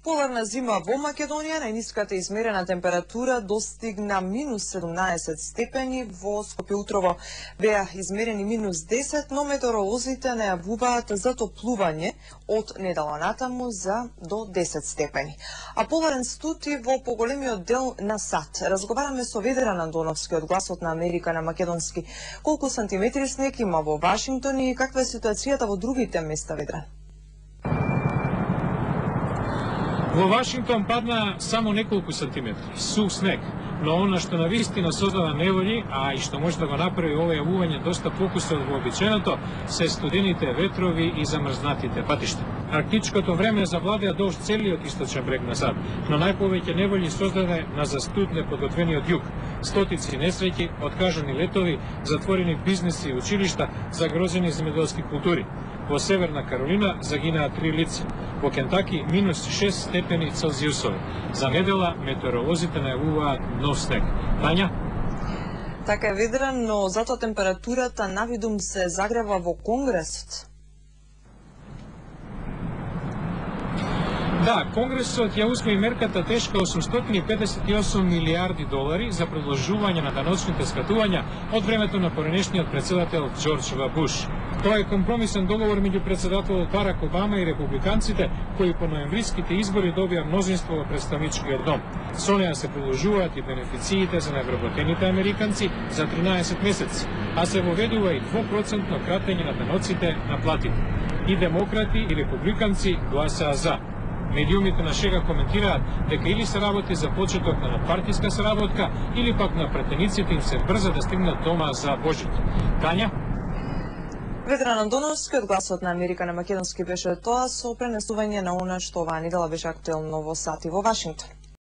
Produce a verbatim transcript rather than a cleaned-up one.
Поларна зима во Македонија, најниската измерена температура достигна минус седумнаесет степени, во Скопје утрово беа измерени минус десет, но метеоролозите најавуваат затоплување од недела натаму за до десет степени. А поларен студ и во поголемиот дел на САД. Разговараме со Ведран Андоновски од Гласот на Америка на македонски. Колку сантиметри снег има во Вашингтон и каква е ситуацијата во другите места, Ведран? Во Вашингтон падна само неколку сантиметри, сув снег, но она што навистина создава неволји, а и што може да го направи ова јавување доста покуса од вообичаеното, се студените ветрови и замрзнатите патишта. Арктичкото време завладеа долж целиот источен брег на САД, но најповеќе неволји создаде на застуд неподготвениот југ. Стотици несреќи, откажани летови, затворени бизнеси и училишта, загрозени земјоделски култури. Во Северна Каролина загинаа три лица. Во Кентаки минус шест степени Целзиусови. За недела метеоролозите најавуваат нов снег. Тања? Така е, Ведран, но затоа температурата навидум се загрева во Конгресот. Да, Конгресот ја усвои мерката тешка осумстотини и педесет и осум милиарди долари за продолжување на даночните скатувања од времето на поранешниот председател Џорџ В. Буш. Тоа е компромисен договор меѓу председателот Барак Обама и републиканците, кои по ноемвриските избори добија мнозинство во представничкиот дом. Со неа се продолжуваат и бенефициите за невработените американци за тринаесет месеци, а се воведува и двопроцентно кратење на даноците на платите. И демократи и републиканци гласаа за. Медиумите на шега коментираат дека или се работи за почеток на надпартиска соработка, или пак на претениците им се брза да стигнат дома за Божит. Тања? Ведран Андоновски од Гласот на Америка на македонски беше тоа со пренесување на она што оваа недела беше актуелно во САД и во Вашингтон.